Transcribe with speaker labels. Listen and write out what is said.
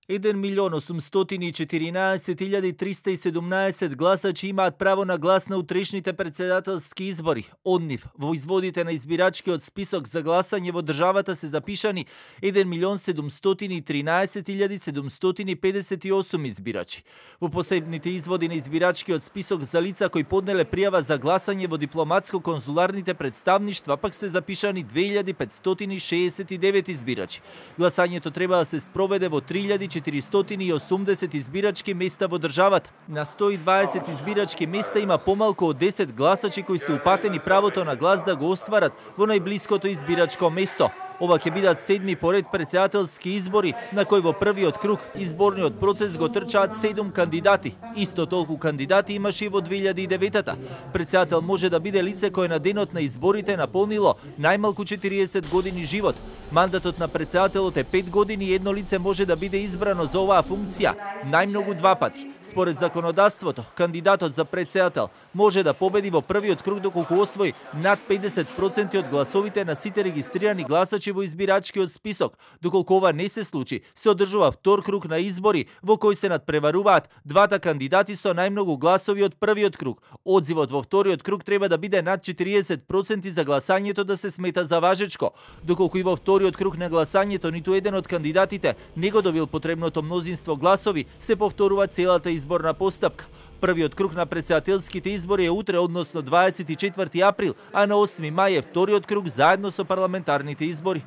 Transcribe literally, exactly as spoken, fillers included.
Speaker 1: еден милион осумстотини и четиринаесет илјади триста и седумнаесет гласачи имаат право на глас на утрешните претседателски избори. Од нив, во изводите на избирачкиот список за гласање во државата се запишани еден милион седумстотини и тринаесет илјади седумстотини и педесет и осум избирачи. Во посебните изводи на избирачкиот список за лица кои поднеле пријава за гласање во дипломатско-конзуларните представништва пак се запишани две илјади петстотини шеесет и девет избирачи. Гласањето треба да се спроведе во три илјади четиристотини и осумдесет избирачки места во државата. На сто и дваесет избирачки места има помалку од десет гласачи кои се упатени правото на глас да го остварат во најблиското избирачко место. Ова ќе бидат седми поред претседателски избори, на кои во првиот круг изборниот процес го трчаат седум кандидати. Исто толку кандидати имаше и во две илјади и деветата. Претседател може да биде лице кое на денот на изборите наполнило најмалку четириесет години живот. Мандатот на претседателот е пет години и едно лице може да биде избрано за оваа функција најмногу два пати. Според законодавството, кандидатот за претседател може да победи во првиот круг доколку освои над педесет проценти од гласовите на сите регистрирани гласачи во избирачкиот список. Доколку ова не се случи, се одржува втор круг на избори во кој се надпреваруваат двата кандидати со најмногу гласови од првиот круг. Одзивот во вториот круг треба да биде над четириесет проценти за гласањето да се смета за важечко. Доколку и во вториот круг на гласањето ниту еден од кандидатите не го добил потребното мнозинство гласови, се повторува целата изборна постапка. Првиот круг на претседателските избори е утре, односно дваесет и четврти април, а на осми мај е вториот круг заедно со парламентарните избори.